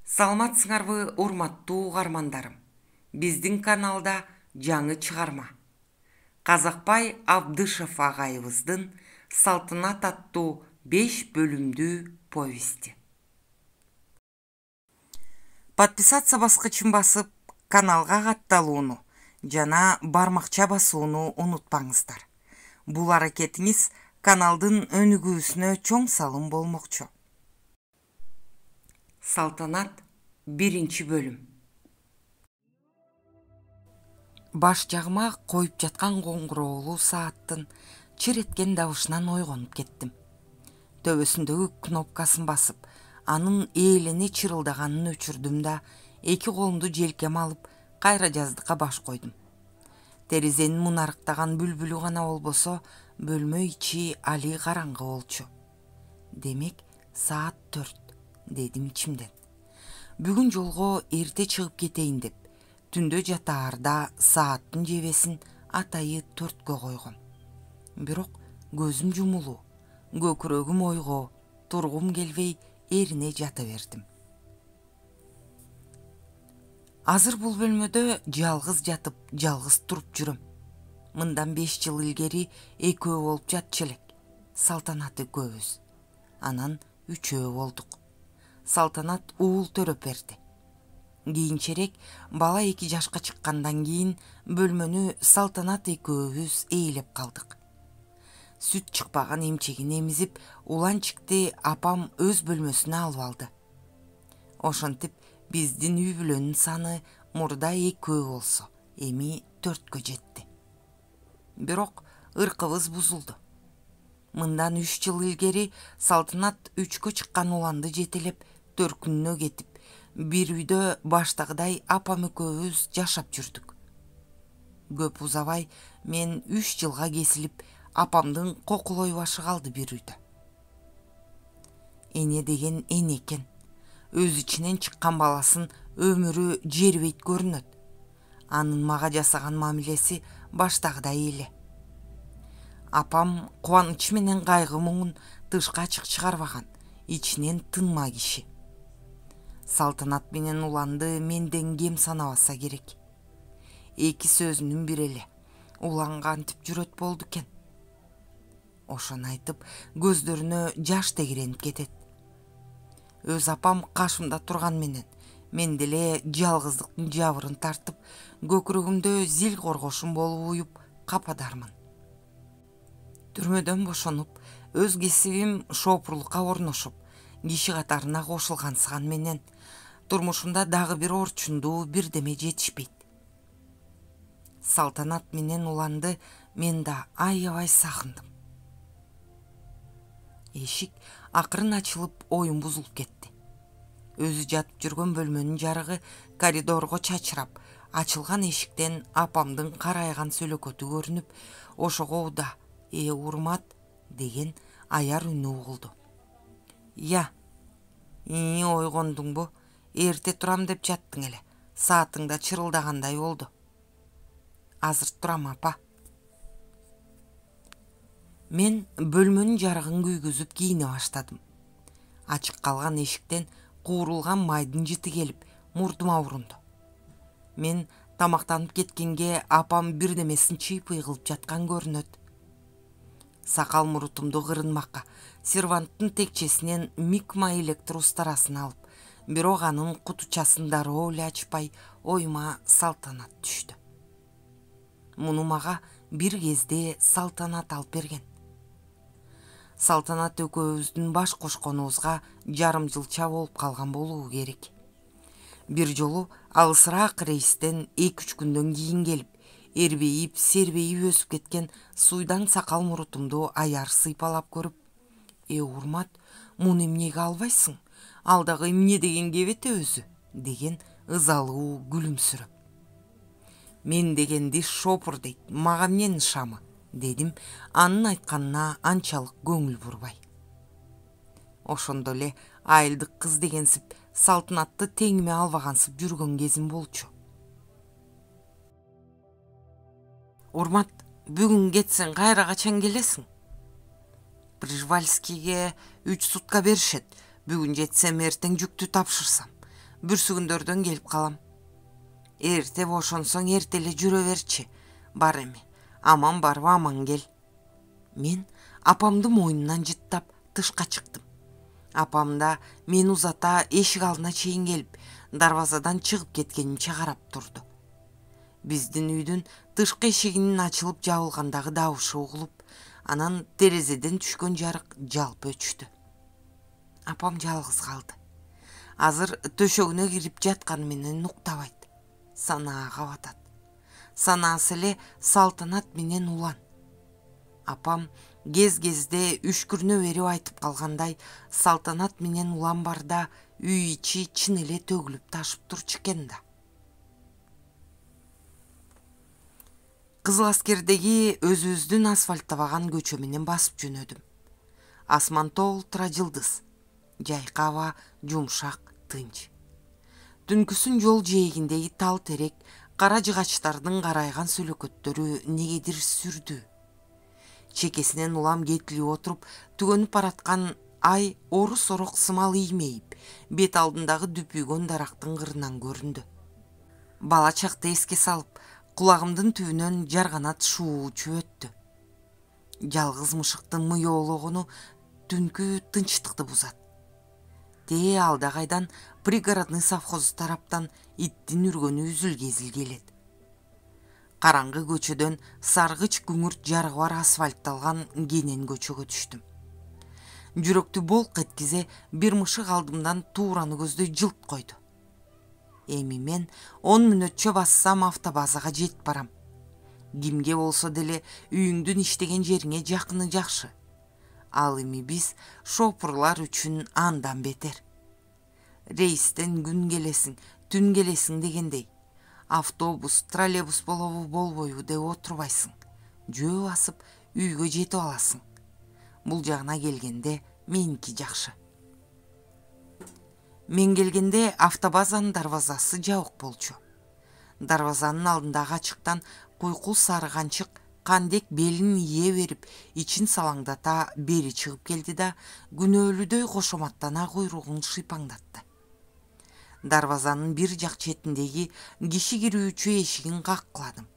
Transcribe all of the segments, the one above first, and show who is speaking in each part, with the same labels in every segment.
Speaker 1: Саламатсыңарбы урматтуу угармандарым. Биздин каналда жаңы чыгарма. Казакбай Абдышев агайыбыздын Салтанат аттуу 5 бөлүмдүү повести. Подписаться баскычын басып, каналга катталууну жана бармакча басууну унутпаңыздар. Бул аракетиңиз каналдын өнүгүүсүнө чоң салым болмокчу. Салтанат 1 бөлүм. Баш жагыма коюп жаткан коңгуроолуу сааттын чыр эткен дабышынан ойгонуп кеттим. Төбөсүндөгү кнопкасын басып, анын ээлене чырылдаганын өчүрдүм да, эки колумду желкеме алып, кайра жаздыкка баш койдум. Терезенин мунарыктаган бүлбүлү гана болбосо, бөлмө ичи али караңгы болчу. Демек, саат 4, дедим ичимден. Бүгүн жолго эрте чыгып кетейин деп, түндө жатаарда сааттын жебесин атайы 4кө койгом. Бирок көзүм жумулуу, көкүрөгүм ойго, тургум келбей эрине жата бердим. Азыр бул бөлмөдө жалгыз жатып, жалгыз туруп жүрөм. Мындан 5 жыл илгери экөө болуп жатчу элек. Салтанат экөөбүз. Анан 3 болдук. Салтанат уул төрөп берди. Кийинчерээк бала 2 жашка чыккандан кийин бөлмөнү Салтанат экөөбүз ээлеп калдык. Сүт чыкпаган эмчегин эмизип, уланчыкты апам өз бөлмөсүнө алып алды. Ошентип биздин үй бүлөнүн саны мурда 2 болсо, эми 4кө жетти. Бирок ыркыбыз бузулду. Мындан 3 жыл илгери Салтанат 3кө чыккан уланды жетелеп, төркүнүнө кетип, бир үйдө баштагыдай апам экөөбүз жашап жүрдүк. Көп узабай мен 3 жылга кесилип, апамдын кокулой башы калды бир үйдө. Эне деген эне экен. Өз ичинен чыккан баласын өмүрү жербейт көрүнөт. Анын мага жасаган мамилеси баштагыдай эле. Апам кубанычы менен кайгы муңун тышка ачык чыгарбаган, ичинен тынма киши. Салтанат менен уланды менден кем санабаса керек. 2 сөзүнүн бири эле. Улан кантип жүрөт болду экен. Ошону айтып, көздөрүнө жаш тегеренип кетет. Өз апам кашымда турган менен, мен деле жалгыздыктын жабырын тартып, көкүрөгүмдө зил коргошум болуп уюп кападармын. Түрмөдөн бошонуп, өз кесибим шопурлукка орношуп, киши катарына кошулгансыган менен, турмушумда дагы бир орчундуу бирдеме жетишпейт. Салтанат менен уланды мен да аябай сагындым. Эшик акырын ачылып, оюм бузулуп кетти. Өзү жатып жүргөн бөлмөнүн жарыгы коридорго чачырап, ачылган эшиктен апамдын карайган сөлөкөтү көрүнүп, ошого уда урмат деген аяр үнү угулду. Я, ойгондуңбу? Эрте турам деп жаттың эле. Саатың да чырылдагандай болду. Азыр турам, апа. Мен бөлмөнүн жарыгын күйгүзүп кийине баштадым. Ачык калган эшиктен куурулган майдын жыты келип, мурдума урунду. Мен тамактанып кеткенге апам бирдемесин чыйпый кылып жаткан көрүнөт. Сакал мурутумду кырынмакка серванттын текчесинен микма электр устарасын алып, бирок анын кутучасын дароо эле ачпай, оюма Салтанат түштү. Муну мага бир кезде Салтанат алып берген. Салтанат экөөбүздүн баш кошконубузга жарым жылча болуп калган болуу керек. Бир жолу алысыраак рейстен 2-3 күндөн кийин келип, эрбейип, сербейип өсүп кеткен суйдаң сакал мурутумду аяр сыйпалап көрүп, урмат, муну эмнеге албайсың? Ал дагы эмне деген кебете өзү? Деген ызалуу күлүмсүрөп. Мен дегенди шопур дейт, мага эмненин шамы? Дедим, анын айтканына анчалык көңүл бурбай. Ошондо эле айылдык кыз дегенсип, Салтанатты теңиме албагансып жүргөн кезим болчу. Урмат, бүгүн кетсең кайра качан келесиң? Прижвальскийге 3 сутка беришет. Бүгүн жетсем, эртең жүктү тапшырсам. бүрсүгүндөрдөн келип калам. Эрте бошонсоң эрте эле жүрө берчи. Бар эми, аман барып аман кел. Мен апамды мойнунан жыттап тышка чыктым. Апам да мен узата эшик алдына чейин келип, дарбазадан чыгып кеткенимче карап турду. Биздин үйдүн тышкы эшигинин ачылып жабылгандагы дабышы угулуп, анан терезеден түшкөн жарык жалп өчтү. Апам жалгыз калды. Азыр төшөгүнө кирип жатканы менен уктабайт. Санаага батат. Санаасы эле Салтанат менен Улан. Апам кез-кезде үшкүрүнө берип айтып калгандай, Салтанат менен Улан барда үй ичи чын эле төгүлүп ташып турчу экен да. Кызыл аскердеги өзүбүздүн асфальттабаган көчө менен басып жөнөдүм. Асман толтура жылдыз. Жайкы аба жумшак, тынч. Түнкүсүн жол жээгиндеги тал терек, кара жыгачтардын карайган сүлөкөттөрү негедир сүрдү. Чекесинен улам кетилип отуруп, түгөнүп бараткан ай орус-орок сымал иймейип, бет алдындагы дүпүйгөн дарактын кырынан көрүндү. Бала чакты эске салып, кулагымдын түбүнөн жарганат шуу учуп өттү. Жалгыз мышыктын мыйоологону түнкү тынчтыкты бузат. Тээ алда кайдан пригородный совхозу тараптан иттин үргөнү үзүл-кезил келет. Караңгы көчөдөн саргыч күңүрт жарыгы бар асфальтталган кенен көчөгө түштүм. Жүрөктү болк эткизе бир мышык алдымдан туураны көздөй жылт койду. Эми мен 10 мүнөтчө бассам автобазага жетип барам. Кимге болсо деле үйүңдүн иштеген жериңе жакыны жакшы. Ал эми биз шопурлар үчүн андан бетер. Рейстен күн келесиң, түн келесиң дегендей. Автобус, троллейбус болобу болбойбу деп отурбайсың. Жөө басып үйгө жетип аласың. Бул жагына келгенде меники жакшы. Мен келгенде автобазанын дарбазасы жабык болчу. Дарбазанын алдындагы ачыктан куйкул сары канчык кандек белин ие берип, ичин салаңдата бери чыгып келди да күнөөлүдөй кошоматтана куйругун шыйпаңдатты. Дарбазанын бир жак четиндеги киши кирүүчү эшигин каккыладым.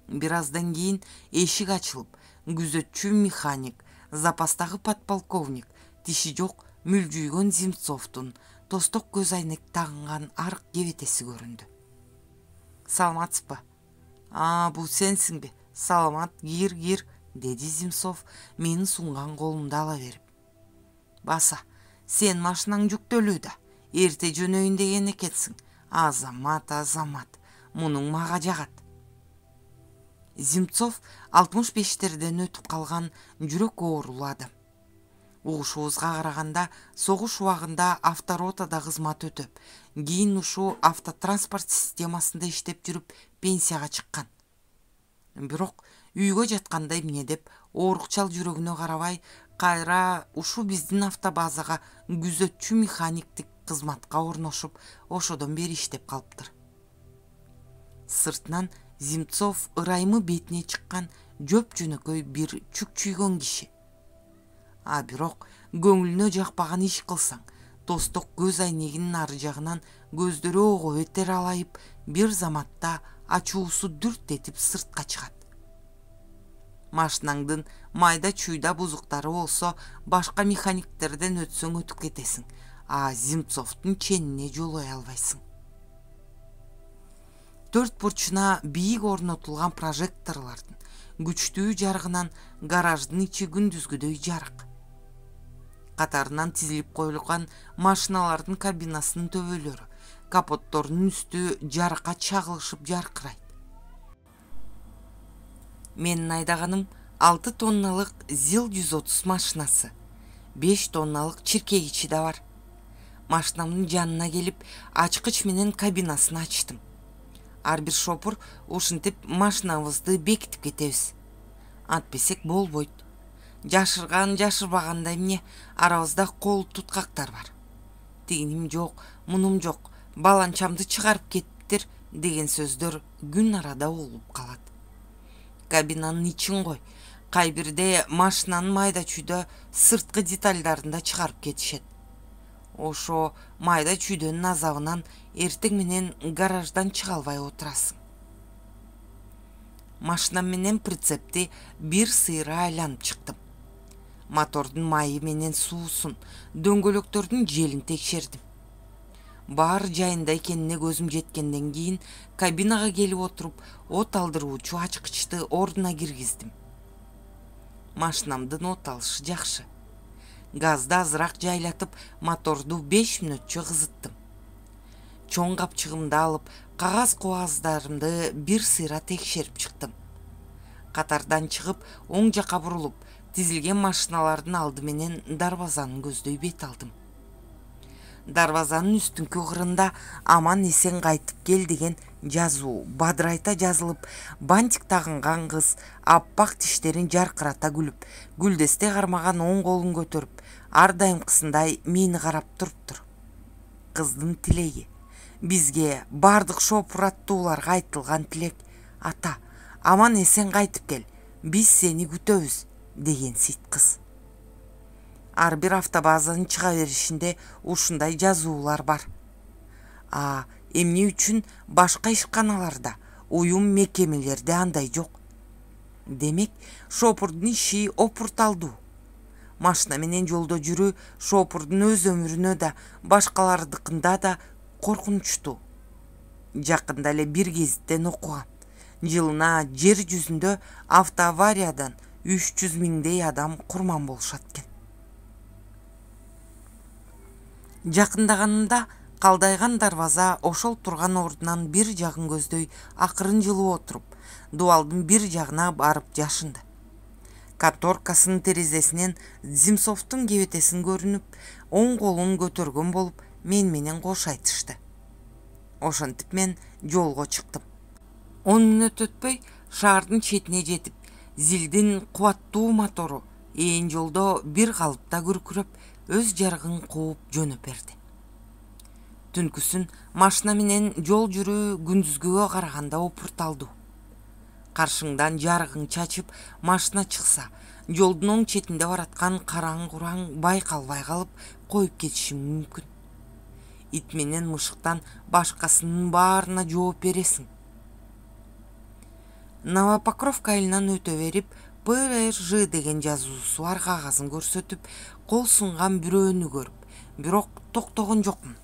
Speaker 1: Бир аздан кийин эшик ачылып, күзөтчү механик, запастагы подполковник, тиши жок мүлжүйгөн Земцовдун тосток көз айнек тагынган арык кебетеси көрүндү. Саламатсызбы? Бул сенсиңби? Саламат, кир, деди Земцов менин сунган колумду ала берип. Баса, сен машинаң жүктөлүү да, эрте жөнөйүн деген экенсиң. Азамат, мунуң мага жагат. Земцов 65-терден өтүп калган жүрөк оорулуу адам. Угушубузга караганда согуш убагында авторотада кызмат өтөп, кийин ушул автотранспорт системасында иштеп жүрүп пенсияга чыккан. Бирок үйгө жатканда эмне деп оорукчал жүрөгүнө карабай, кайра ушу биздин автобазага күзөтчү механиктик кызматка орношуп, ошодон бери иштеп калыптыр. Сыртынан Земцов ырайымы бетине чыккан жөп жөнөкөй бир чүкчүйгөн киши. Бирок көңүлүнө жакпаган иш кылсаң, тосток көз айнегинин ары жагынан көздөрү ого бетер алайып, бир заматта ачуусу дүрт этип сыртка чыгат. Машинаңдын майда чүйда бузуктары болсо башка механиктерден өтсөң өтүп кетесиң, Земцовдун ченине жолой албайсың. Төрт бурчуна бийик орнотулган прожекторлордун күчтүү жарыгынан гараждын ичи күндүзгүдөй жарык. Катарынан тизилип коюлган машиналардын кабинасынын төбөлөрү, капотторунун үстү жарыкка чагылышып жаркырайт. Менин айдаганым 6 тонналык ЗИЛ-130 машинасы, 5 тонналык чиркегичи да бар. Машинамдын жанына келип, ачкыч менен кабинасын ачтым. Ар бир шопур ушинтип машинабызды бекитип кетебиз. Антпесек болбойт. Жашырган жашырбаганда эмне, арабызда кол туткактар бар. Тигиним жок, мунум жок, баланчамды чыгарып кетиптир деген сөздөр күн арада угулуп калат. Кабинанын ичин кой, кай бирде машинанын майда чүйдө сырткы детальдарын да чыгарып кетишет. ошо майда чүйдөнүн азабынан эртең менен гараждан чыга албай отурасың. Машинам менен прицепти бир сыйра айланып чыктым. Мотордун майы менен суусун, дөңгөлөктөрдүн желин текшердим. Баары жайында экенине көзүм жеткенден кийин кабинага келип отуруп, от алдыруучу ачкычты ордуна киргиздим. Машинамдын от алышы жакшы. Газды азыраак жайлатып, моторду 5 мүнөтчө кызыттым. Чоң капчыгымды алып, кагаз-кубаздарымды бир сыйра текшерип чыктым. Катардан чыгып, оң жакка бурулуп, тизилген машиналардын алды менен дарбазаны көздөй бет алдым. Дарбазанын үстүнкү кырында аман эсен кайтып кел деген жазуу бадырайта жазылып, бантик тагынган кыз аппак тиштерин жаркырата күлүп, гүлдесте кармаган оң колун көтөрүп, ар дайымкысындай мени карап туруптур. Кыздын тилеги, бизге бардык шопур аттууларга айтылган тилек: ата, аман эсен кайтып кел, биз сени күтөбүз деген сыйт кыз. Ар бир автобазанын чыга беришинде ушундай жазуулар бар. Эмне үчүн башка ишканаларда, уюм мекемелерде андай жок? Демек, шопурдун иши опурталдуу. Машина менен жолдо жүрүү шопурдун өз өмүрүнө да, башкалардыкында да коркунучтуу. Жакында эле бир гезиттен окугам. Жылына жер жүзүндө автоавариядан 300 миңдей адам курман болушат экен. Жакындаганында калдайган дарбаза ошол турган ордунан бир жагын көздөй акырын жылып отуруп, дубалдын бир жагына барып жашынды. Конторкасынын терезесинен Земцовдун кебетесин көрүнүп, оң колун көтөргөн болуп, мен менен кош айтышты. Ошентип мен жолго чыктым. 10 мүнөт өтпөй шаардын четине жетип, зилдин кубаттуу мотору ээн жолдо бир калыпта күркүрөп, өз жарыгын кууп жөнөп берди. Түнкүсүн машина менен жол жүрүү күндүзгүгө караганда опурталдуу. Каршыңдан жарыгың чачып машина чыкса, жолдун оң четинде бараткан караң-кураң байкалбай калып коюп кетиши мүмкүн. Ит менен мышыктан башкасынын баарына жооп бересиң. Новопокровка айылынан өтө берип, ПРЖ деген жазуусу бар кагазын көрсөтүп, кол сунган бирөөнү көрүп, бирок токтогон жокмун.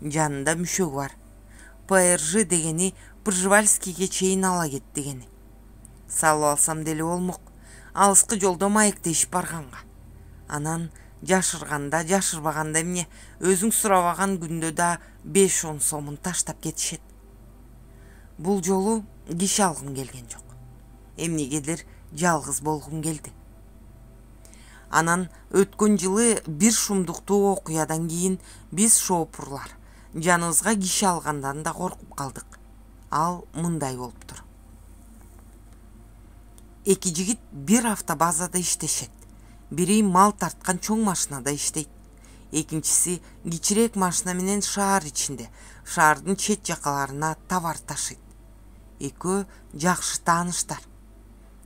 Speaker 1: Жанында мүшөгү бар. ПРЖ дегени Пржевальскийге чейин ала кет дегени. Салып алсам деле болмок, алыскы жолдо маектешип барганга. Анан жашырганда, жашырбаганда эмне, өзүң сурабаган күндө да 5-10 сомун таштап кетишет. Бул жолу киши алгым келген жок. Эмнегедир жалгыз болгум келди. Анан өткөн жылы бир шумдуктуу окуядан кийин биз шопурлар жаныбызга киши алгандан да коркуп калдык. Ал мындай болуптур. Эки жигит бир автобазада иштешет. Бири мал тарткан чоң машинада иштейт. Экинчиси кичирээк машина менен шаар ичинде, шаардын чет жакаларына товар ташыйт. Экөө жакшы тааныштар.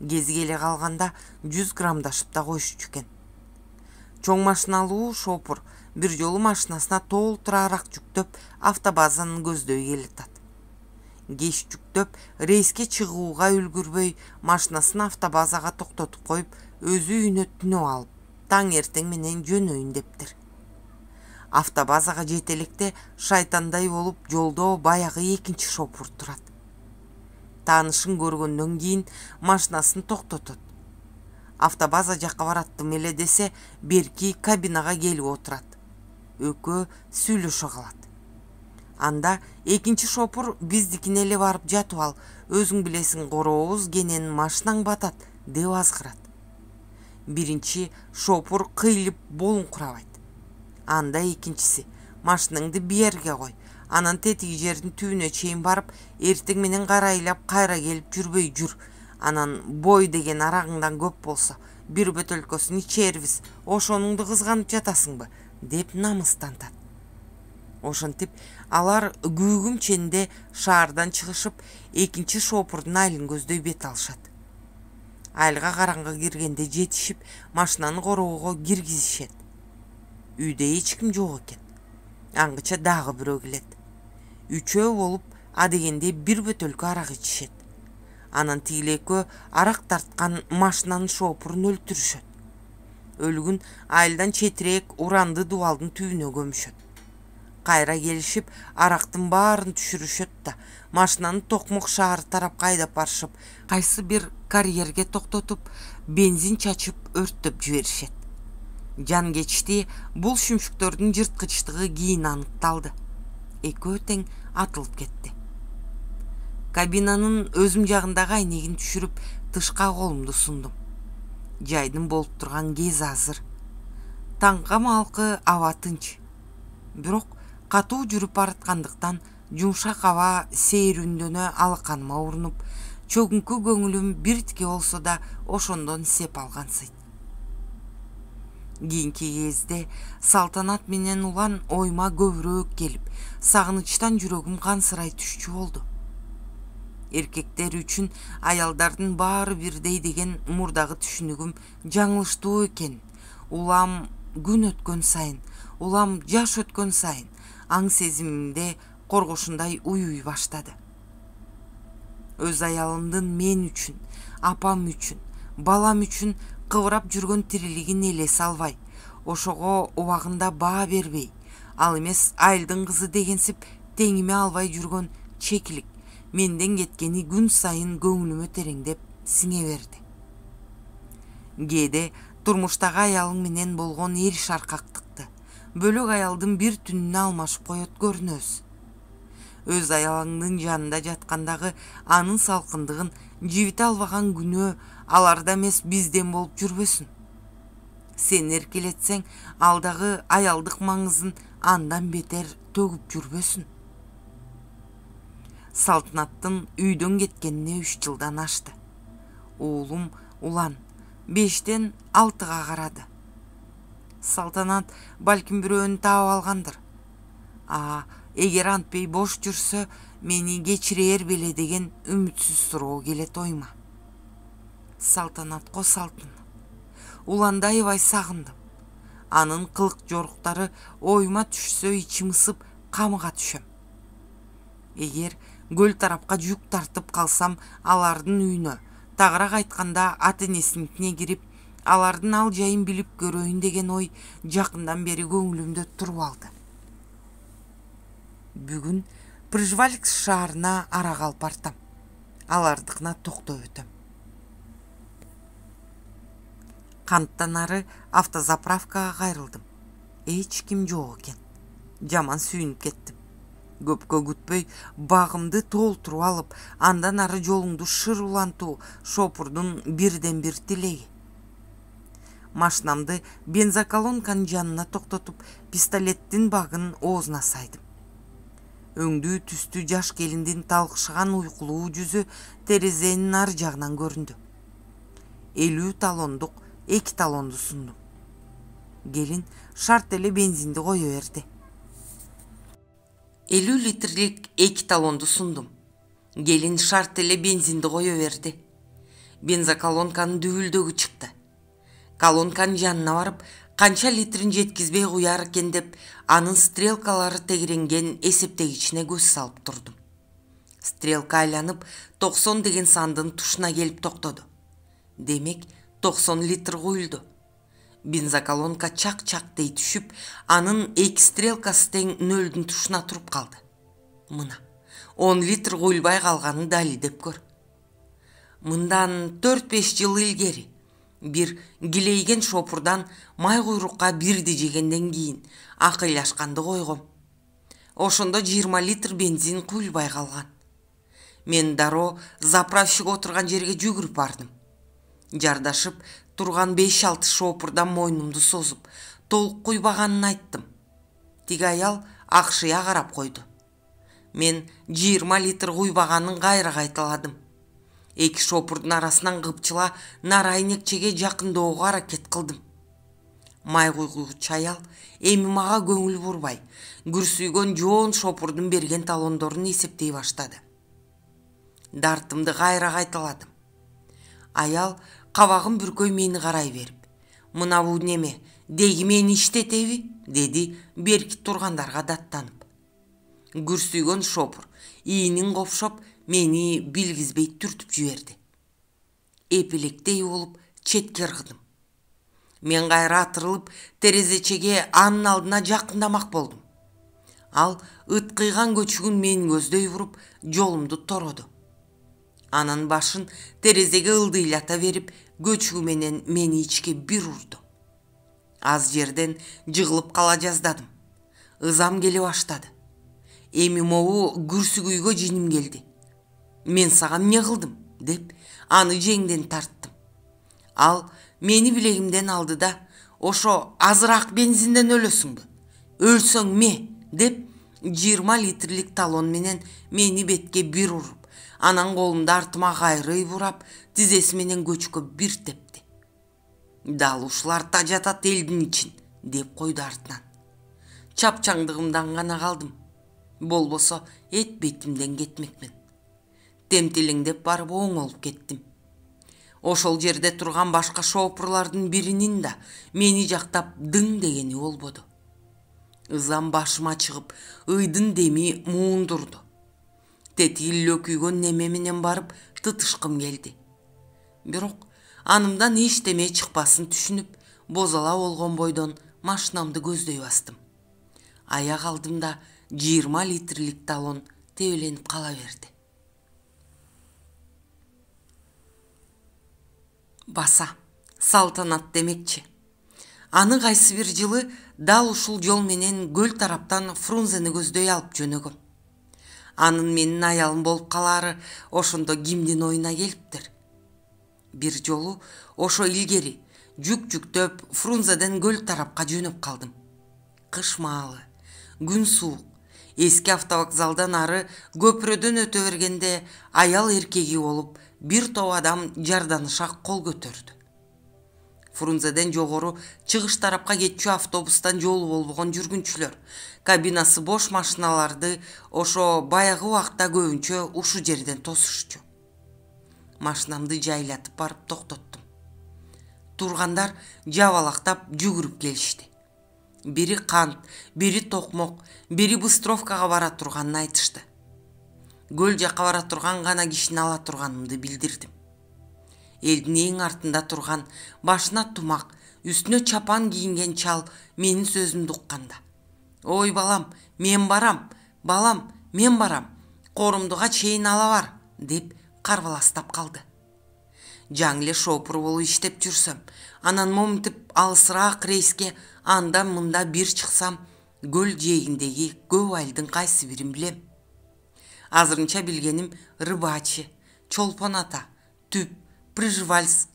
Speaker 1: Кези келе калганда 100 грамдашып да коюшчу экен. Чоң машиналуу шопур бир жолу машинасына толтура арак жүктөп автобазаны көздөй келатат. Кеч жүктөп рейске чыгууга үлгүрбөй машинасын автобазага токтотуп коюп, өзү үйүнө түнөп алып, таң эртең менен жөнөйүн дептир. Автобазага жете электе шайтандай болуп жолдо баягы экинчи шопур турат. Таанышын көргөндөн кийин машинасын токтотот. Автобаза жакка бараттым эле десе, берки кабинага келип отурат. Экөө сүйлөшө калат. Анда экинчи шопур биздикине эле барып жатып ал, өзүң билесиң корообуз кенен машинаң батат деп азгырат. Биринчи шопур кыйлып болуңкурабайт. Анда экинчиси: машинаңды биерге кой, анан тетиги жердин түбүнө чейин барып, эртең менен карайлап кайра келип жүрбөй жүр. Анан бой деген арагыңдан көп болсо, бир бөтөлкөсүн ичербиз, ошонуңду кызганып жатасыңбы деп намыстантат. Ошентип алар күүгүм ченде шаардан чыгышып, экинчи шопурдун айылын көздөй бет алышат. Айылга караңгы киргенде жетишип, машинаны короого киргизишет. Үйдө эч ким жок экен. Аңгыча дагы бирөө келет. Үчөө болуп адегенде бир бөтөлкө арак ичишет. Анан тигил экөө арак тарткан машинанын шоопурун өлтүрүшөт. Өлүгүн айылдан четирээк уранды дубалдын түбүнө көмүшөт. Кайра келишип арактын баарын түшүрүшөт да машинаны Токмок шаары тарапка айдап барышып, кайсы бир карьерге токтотуп, бензин чачып өрттөп жиберишет. Жан кечти бул шүмшүктөрдүн жырткычтыгы кийин аныкталды. Экөө тең атылып кетти. Кабинанын өзүм жагындагы айнегин түшүрүп, тышка колумду сундум. Жайдын болуп турган кези азыр. Таңга малкы аба тынч. Бирок катуу жүрүп бараткандыктан жумшак аба сейрүндөнө алаканыма урунуп, чөгүнкү көңүлүм биртике болсо да ошондон сеп алгансыйт. Кийинки кезде Салтанат менен Улан оюма көбүрөөк келип, сагынычтан жүрөгүм кансырай түшчү болду. Эркектер үчүн аялдардын баары бирдей деген мурдагы түшүнүгүм жаңылыштуу экен. Улам күн өткөн сайын, улам жаш өткөн сайын аң сезимимде коргошундай уюй баштады. Өз аялымдын мен үчүн, апам үчүн, балам үчүн кыбырап жүргөн тирилигин элесе албай, ошого убагында баа бербей, ал эмес айылдын кызы дегенсип теңиме албай жүргөн чекилик менден кеткени күн сайын көңүлүмө тереңдеп сиңе берди. Кээде турмуштагы аялың менен болгон эр шаркактыкты бөлөк аялдын бир түнүнө алмашып коет көрүнөбүз. Өз аялыңдын жанында жаткандагы анын салкындыгын жибите албаган күнөө аларда эмес бизден болуп жүрбөсүн. Сен эркелетсең, алдагы аялдык маңызын андан бетер төгүп жүрбөсүн. Салтанаттын үйдөн кеткенине 3 жылдан ашты. Уулум Улан 5-тен 6-га карады. Салтанат балким бирөөнү таап алгандыр. Эгер антпей бош жүрсө, мени кечирээр беле деген үмүтсүз суроо келет оюма. Салтанатко Салтанат. Уланды аябай сагындым. Анын кылык жоруктары оюма түшсө, ичим ысып, камыга түшөм. Эгер көл тарапка жүк тартып калсам, алардын үйүнө, тагыраак айтканда ата-энесиникине кирип, алардын ал жайын билип көрөйүн деген ой жакындан бери көңүлүмдө туруп алды. Бүгүн Пржевальск шаарына арак алып бартам. Алардыкына токтоп өтөм. Канттан ары автозаправкага кайрылдым. Эч ким жок экен. Жаман сүйүнүп кеттим. Көпкө күтпөй багымды толтуруп алып, андан ары жолуңду шыр улантуу шопурдун бирден бир тилеги. Машинамды бензоколонканын жанына токтотуп, пистолеттин багын оозуна сайдым. Өңдүү түстүү жаш келиндин талкышкан уйкулуу жүзү терезенин ар жагынан көрүндү. 50 талондук 2 талонду сундум. Келин шарт эле бензинди кое берди. 50 литрлик 2 талонду сундум. Келин шарт эле бензинди кое берди. Бензоколонканын дүбүлдөгү чыкты. Колонканын жанына барып, канча литрин жеткизбей куяр экен деп, анын стрелкалары тегиренген эсептегичине көз салып турдум. Стрелка айланып 90 деген сандын тушуна келип токтоду. Демек 90 литр куюлду. Бензоколонка чак-чак дей түшүп, анын 2 стрелкасы тең 0-дун тушуна туруп калды. Мына 10 литр куюлбай калганын далилдеп көр. Мындан 4-5 жыл илгери бир килейген шопурдан май куйрукка бирди жегенден кийин акыйлашканды койгом. Ошондо 20 литр бензин куюлбай калган. Мен дароо заправщик отурган жерге жүгүрүп бардым. Жардашып турган 5-6 шопурдан мойнумду созуп, толук куйбаганын айттым. Тиги аял акшыя карап койду. Мен 20 литр куйбаганын кайра кайталадым. 2 шопурдун арасынан кыпчыла нары айнекчеге жакындөөгө аракет кылдым. Май куйгучу аял эми мага көңүл бурбай, күрсүйгөн жоон шопурдун берген талондорун эсептей баштады. Дартымды кайра кайталадым. Аял кабагын бүркөй мени карай берип: "Мына бул неме? деги мени иштетеби, деди берки тургандарга даттанып. Күрсүйгөн шопур иинин копшоп мени билгизбей түртүп жиберди. Эпелектей болуп четке ыргыдым. Мен кайра атырылып терезечеге анын алдына жакындамак болдум. Ал ыткыйган көчүгүн мени көздөй уруп жолумду тороду. Анан башын терезеге ылдыйлата берип көчүгү менен мени ичке бир урду. Аз жерден жыгылып кала жаздадым. Ызам келе баштады. Эми могу күрсүгүйгө жиним келди. Мен сага эмне кылдым деп аны жеңден тарттым. Ал мени билегимден алды да, ошо азыраак бензинден өлөсүңбү? Өлсөң ме, деп 20 литрлик талон менен мени бетке бир уруп, анан колумду артыма кайрый бурап, тизеси менен көчкө бир тепти. Дал ушулар тажатат элдин ичин, деп койду артынан. Чапчаңдыгымдан гана калдым. Болбосо эт бетимден кетмекмин. Темтилеңдеп барып оңолуп кеттим. Ошол жерде турган башка шопурлардын биринин да мени жактап дың дегени болбоду. Ызам башыма чыгып, ыйдын деми муундурду. Тетиги лөкүйгөн неме менен барып тытышкым келди. Бирок анымдан эчтеме чыкпасын түшүнүп, бозала болгон бойдон машинамды көздөй бастым. Аяк алдымда 20 литрлик талон тебеленип кала берди. Баса, салтанат демекчи. Аны кайсы бир жылы дал ушул жол менен көл тараптан Фрунзени көздөй алып жөнөгөм. Анын менин аялым болуп калаары ошондо кимдин оюна келиптир. Бир жолу ошо илгери жүк жүктөп Фрунзеден көл тарапка жөнөп калдым. Кыш маалы, күн суук. Эски автовокзалдан ары көпүрөдөн өтө бергенде аял эркеги болуп бир топ адам жарданыша кол көтөрдү. Фрунзеден жогору чыгыш тарапка кетчү автобустан жолу болбогон жүргүнчүлөр кабинасы бош машиналарды ошо баягы убакта көбүнчө ушу жерден тосушчу. Машинамды жайлатып барып токтоттум. Тургандар жабалактап жүгүрүп келишти. Бири кант, бири токмок, бири быстровкага бара турганын айтышты. Көл жакка бара турган гана кишини ала турганымды билдирдим. Элдин эң артында турган, башына тумак, үстүнө чапан кийинген чал менин сөзүмдү укканда: "Ой балам, мен барам, балам, мен барам, корумдуга чейин ала бар", деп карбаластап калды. Жаң эле шопур болуп иштеп жүрсөм, анан моминтип алысыраак рейске анда мында бир чыксам, көл жээгиндеги көп айылдын кайсы бирин билем. Азырынча билгеним Рыбачи, Чолпон ата, Түп, Прижвальск.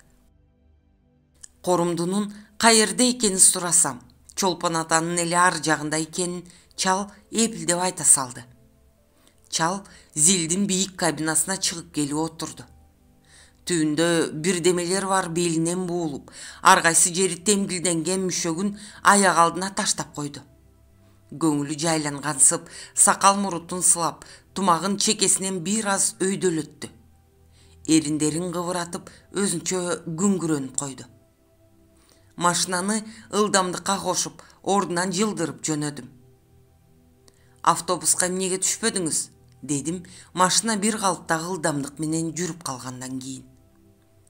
Speaker 1: Корумдунун каерде экенин сурасам, Чолпон атанын эле ар жагында экенин чал эпилдеп айта салды. Чал зилдин бийик кабинасына чыгып келип отурду. Түбүндө бирдемелер бар белинен буулуп, ар кайсы жери темдилденген мүшөгүн аяк алдына таштап койду. Көңүлү жайлангансып, сакал мурутун сылап, тумагын чекесинен бир аз өйдөлөттү. Эриндерин кыбыратып, өзүнчө күңгүрөнүп койду. Машинаны ылдамдыкка кошуп, ордунан жылдырып жөнөдүм. "Автобуска эмнеге түшпөдүңүз?" дедим, машина бир калыптагы ылдамдык менен жүрүп калгандан кийин.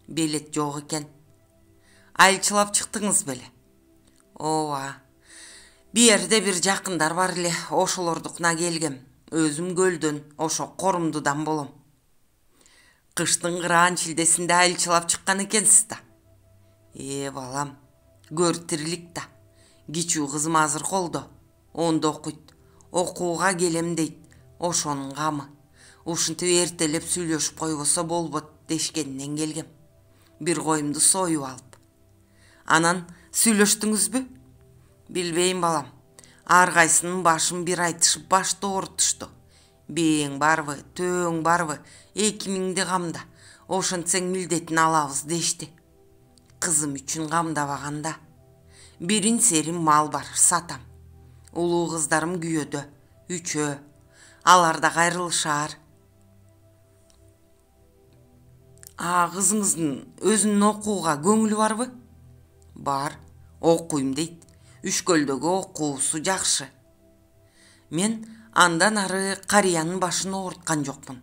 Speaker 1: "Билет жок экен." "Айылчылап чыктыңыз беле?" "Ооба. Бир жерде бир жакындар бар эле, ошолордукуна келгем. Өзүм көлдөн, ошо Корумдудан болом." "Кыштын кыраан чилдесинде айылчылап чыккан экенсиз да?" Балам, көр тирилик да. Кичүү кызым азыр колдо. Ондо окуйт. Окууга келем дейт. Ошонун камы. Ушинтип эртелеп сүйлөшүп койбосо болбот дешкенинен келгем. Бир коюмду союп алып. "Анан сүйлөштүңүзбү?" "Билбейм балам. Ар кайсынын башын бир айтышып башты оорутушту. Бээң барбы, төөң барбы, 2000'ди камда. Ошентсең милдетин алабыз дешти. Кызым үчүн камдабаганда. Бирин серим мал бар, сатам. Улуу кыздарым күйөөдө, 3. Алар да кайрылышаар." "Кызыңыздын өзүнүн окууга көңүлү барбы?" "Бар. Окуйм дейт. Үшкөлдөгү окуусу жакшы. Мен андан ары карыянын башын ооруткан жокмун.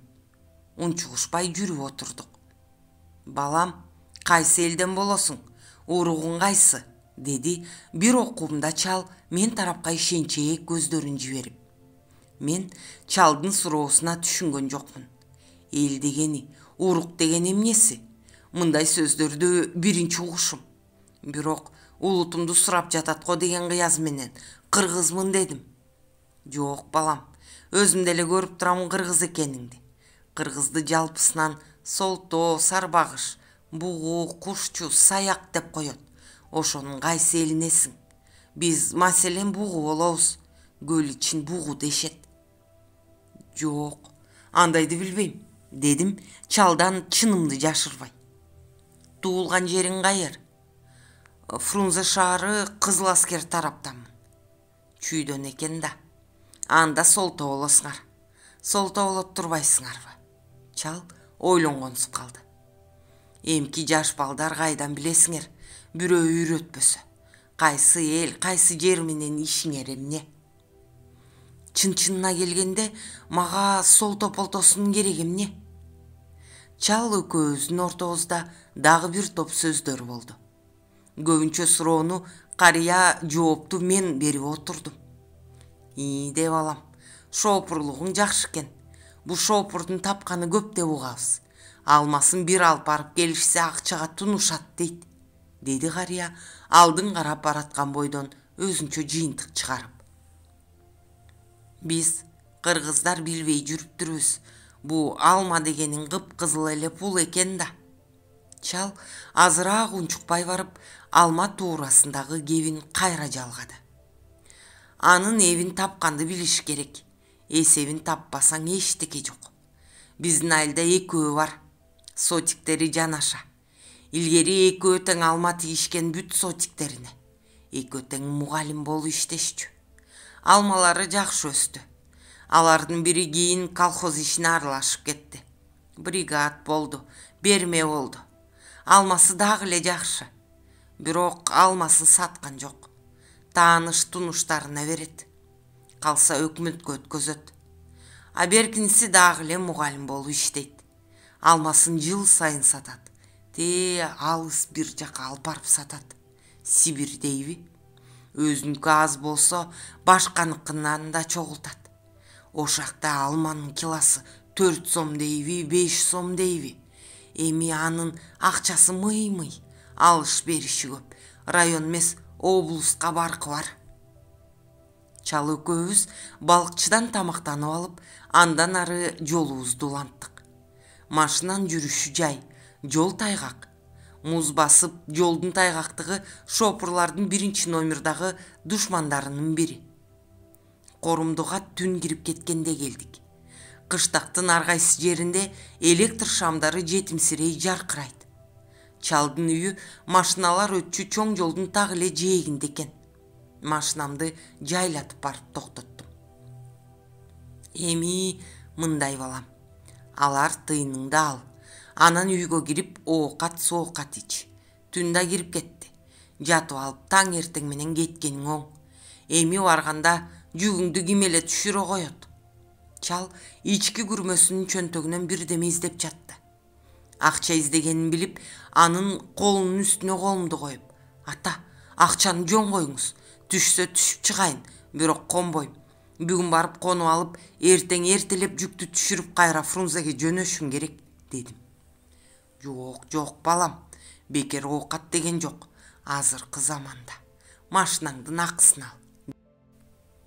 Speaker 1: Унчугушпай жүрүп отурдук. Балам, кайсы элден болосуң? Уругуң кайсы? Деди бир окуумда чал мен тарапка ишенчээк көздөрүн жиберип. Мен чалдын суроосуна түшүнгөн жокмун. Эл дегени, урук деген эмнеси? Мындай сөздөрдү биринчи угушум. Бирок улутумду сурап жатат го деген кыяз менен кыргызмын дедим. Жок балам, өзүм деле көрүп турам кыргыз экениңди. Кыргызды жалпысынан солтоо, сарбагыш, бугу, кушчу, саяк деп коет. Ошонун кайсы элинесиң? Биз маселен бугу болобуз. Көл ичин бугу дешет. Жок, андайды билбейм, дедим чалдан чынымды жашырбай. Туулган жериң кайер? Фрунзе шаары, Кызыл Аскер тараптанмын. Чүйдөн экен да. Анда солтоо болосуңар. Солтоо болот турбайсыңарбы? Чал ойлонгонсуп калды. Эмки жаш балдар кайдан билесиңер, бирөө үйрөтпөсө. Кайсы эл, кайсы жер менен ишиңер эмне? Чын-чынына келгенде мага сол тополтосунун кереги эмне? Чал экөөбүздүн ортобузда дагы бир топ сөздөр болду. Көбүнчө суроону карыя, жоопту мен берип отурдум. Де балам, шоопурлугуң жакшы экен. Бу шоопурдун тапканы көп деп угабыз. Алмасын бир алып барып келишсе акчага тунушат дейт, деди карыя алдын карап бараткан бойдон өзүнчө жыйынтык чыгарып. Биз кыргыздар билбей жүрүптүрбүз. Бу алма дегениң кыпкызыл эле пул экен да. Чал азыраак унчукпай барып алма туурасындагы кебин кайра жалгады. Анын эбин тапканды билиш керек. Эсебин таппасаң эчтеке жок. Биздин айылда экөө бар. Сотиктери жанаша. Илгери экөө тең алма тигишкен бүт сотиктерине. Экөө тең мугалим болуп иштешчү. Алмалары жакшы өстү. Алардын бири кийин колхоз ишине аралашып кетти. Бригад болду, берме болду. Алмасы дагы эле жакшы. Бирок алмасын саткан жок. Тааныш тунуштарына берет. Калса өкмөткө өткөзөт. А беркинси дагы эле мугалим болуп иштейт. Алмасын жыл сайын сатат. Алыс бир жака алып барып сатат. Сибир дейби? Өзүнүкү аз болсо башканыкынан да чогултат. Ошакта алманын килосы 4 сом дейби, 5 сом дейби? Эми анын акчасы мый-мый. Алыш бериши көп. Район эмес, облуска баркы бар. Чал экөөбүз балыкчыдан тамактанып алып, андан ары жолубузду уланттык. Машинанын жүрүшү жай, жол тайгак. Муз басып, жолдун тайгактыгы шопурлардын 1-номердагы душмандарынын бири. Корумдуга түн кирип кеткенде келдик. Кыштактын ар кайсы жеринде электр шамдары жетимсирей жаркырайт. Чалдын үйү машиналар өтчү чоң жолдун так эле жээгинде экен. Машинамды жайлатып барып токтоттум. Эми мындай балам. Алар тыйыныңды ал. Анан үйгө кирип оокат соокат ич. Түн да кирип кетти. Жатып алып таң эртең менен кеткениң оң. Эми барганда жүгүңдү ким эле түшүрө коет? Чал ички күрмөсүнүн чөнтөгүнөн бирдеме издеп жатты. Акча издегенин билип, анын колунун үстүнө колумду коюп, ата, акчаны жөн коюңуз. Түшсө түшүп чыгайын, бирок конбойм. Бүгүн барып конуп алып, эртең эртелеп жүктү түшүрүп кайра Фрунзеге жөнөшүң керек, дедим. Жок, балам, бекер оокат деген жок. Азыркы заманда машинаңдын акысын ал,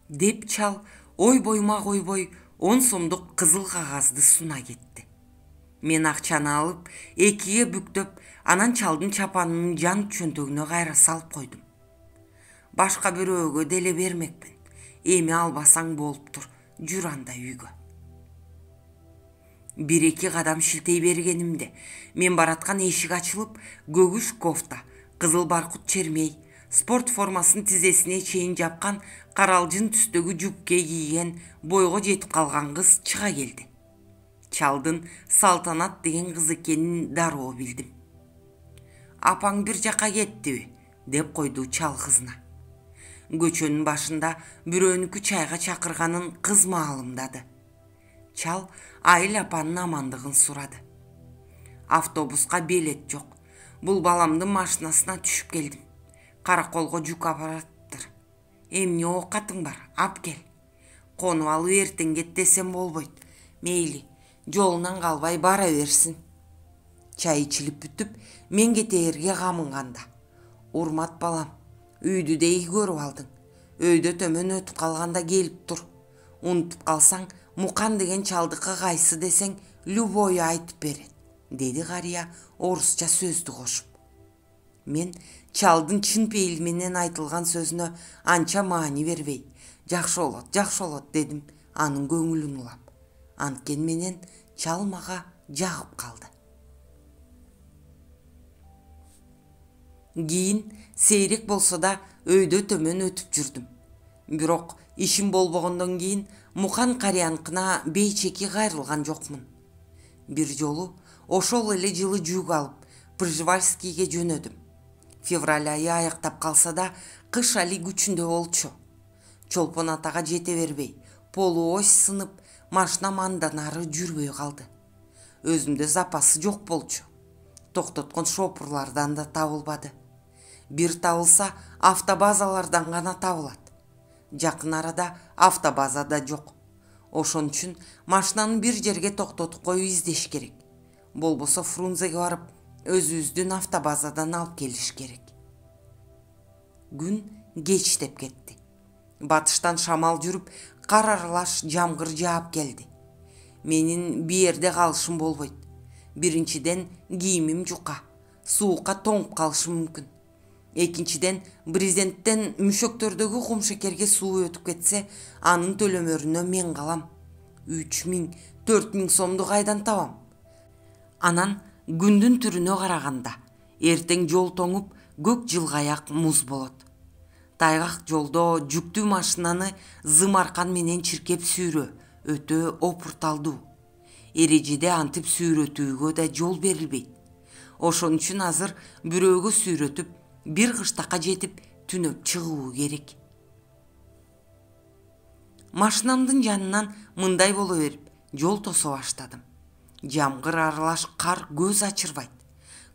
Speaker 1: деп чал ойбойма койбой 10 сомдук кызыл кагазды суна кетти. Мен акчаны алып, экиге бүктөп, анан чалдын чапанынын жан чөнтөгүнө кайра салып койдум. Башка бирөөгө деле бермекмин. Эми албасаң болуптур, жүр анда үйгө. 1-2 кадам шилтей бергенимде, мен бараткан эшик ачылып, көгүш кофта, кызыл баркут чермей, спорт формасын тизесине чейин жапкан каралжын түстөгү жупке кийген бойго жетип калган кыз чыга келди. Чалдын Салтанат деген кыз экенин дароо билдим. Апаң бир жака кеттиби? деп койду чал кызына. Көчөнүн башында бирөөнүкү чайга чакырганын кыз маалымдады. Чал Айыл апанын амандыгын сурады. Автобуска билет жок. Бул баламдын машинасына түшүп келдим. Караколго жүк апараттыр. Эмне оокатың бар? Ап кел. Конуп алып эртең кет десем болбойт. Мейли, жолунан калбай бара берсин. Чай ичилип бүтүп, мен кетээрге камынганда. Урмат балам, үйдү деги көрүп алдың. Өйдө төмөн өтүп калганда келип тур. Унутуп калсаң, Мукан деген чалдыкы кайсы десең, любой айтып берет, деди карыя орусча сөздү кошуп. Мен чалдын чын пейил менен айтылган сөзүнө анча маани бербей, жакшы болот дедим анын көңүлүн улап. Анткен менен чал мага жагып калды. Кийин сейрек болсо да өйдө төмөн өтүп жүрдүм. Бирок ишим болбогондон кийин Мукан карыяныкына бейчеки кайрылган жокмун. Бир жолу ошол эле жылы жүк алып Пржевальскийге жөнөдүм. Февраль айы аяктап калса да кыш али күчүндө болчу. Чолпон атага жете бербей, полуось сынып, машинам андан ары жүрбөй калды. Өзүмдө запасы жок болчу. Токтоткон шопурлардан да табылбады. Бир табылса автобазалардан гана табылат. Жакын арада автобаза да жок. Ошон үчүн машинаны бир жерге токтотуп коюп издеш керек. Болбосо Фрунзеге барып, өзүбүздүн автобазадан алып келиш керек. Күн кечтеп кетти. Батыштан шамал жүрүп, кар аралаш жамгыр жаап келди. Менин биерде калышым болбойт. Биринчиден кийимим жука, суукка тоңуп калышым мүмкүн. Экинчиден, брезенттен мүшөктөрдөгү кумшекерге суу өтүп кетсе, анын төлөмөрүнө мен калам. 3000, 4000 сомду кайдан табам? Анан күндүн түрүнө караганда, эртең жол тоңуп, көк жылгаяк муз болот. Тайгак жолдо жүктүү машинаны зым аркан менен чиркеп сүйрөө өтө опурталдуу. Эрежеде антип сүйрөтүүгө да жол берилбейт. Ошон үчүн азыр бирөөгө сүйрөтүп, бир кыштакка жетип түнөп чыгуу керек. Машинамдын жанынан мындай боло берип, жол тосо баштадым. Жамгыр аралаш кар көз ачырбайт.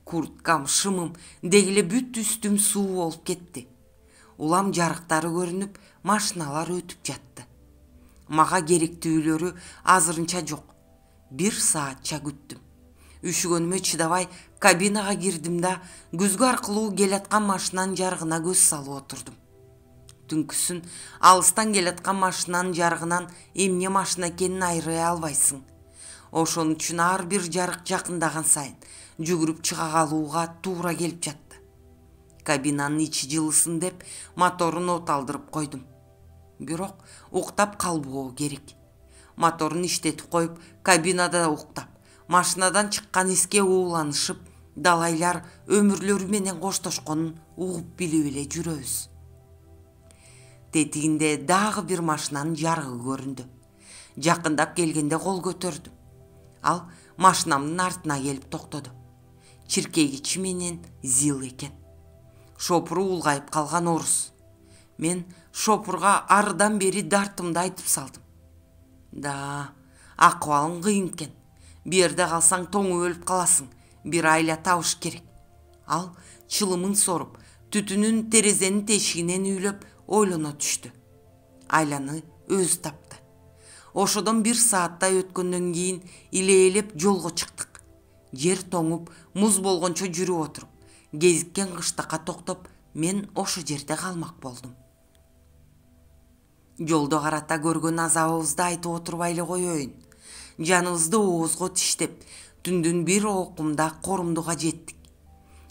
Speaker 1: Курткам, шымым, дегиле бүт үстүм суу болуп кетти. Улам жарыктары көрүнүп, машиналар өтүп жатты. Мага керектүүлөрү азырынча жок. 1 саатча күттүм. Үшүгөнүмө чыдабай кабинага кирдим да, күзгү аркылуу келаткан машинанын жарыгына көз салып отурдум. Түнкүсүн алыстан келаткан машинанын жарыгынан эмне машина экенин айырый албайсың. Ошон үчүн ар бир жарык жакындаган сайын жүгүрүп чыга калууга туура келип жатты. Кабинанын ичи жылысын деп моторун оталдырып койдум. Бирок уктап калбоо керек. Моторун иштетип коюп, кабинада уктап, машинадан чыккан эске ууланышып, далайлар өмүрлөрү менен коштошконун угуп билип эле жүрөбүз. Тетигинде дагы бир машинанын жарыгы көрүндү. Жакындап келгенде кол көтөрдүм. Ал машинамдын артына келип токтоду. Чиркегичи менен зил экен. Шопуру улгайып калган орус. Мен шопурга арыдан бери дартымды айтып салдым. Да, акыбалың кыйын экен. Берде калсаң тоңуп өлүп каласың. Бир айла табыш керек. Ал чылымын соруп, түтүнүн терезенин тешигинен үйлөп ойлоно түштү. Айланы өзү тапты. Ошодон 1 сааттай өткөндөн кийин илээлеп жолго чыктык. Жер тоңуп, муз болгончо жүрүп отуруп, кезиккен кыштакка токтоп, мен ошо жерде калмак болдум. Жолдо карата көргөн азабыбызды айтып отурбай эле коеюн. Жаныбызды оозго тиштеп, түндүн бир окумда Корумдуга жеттик.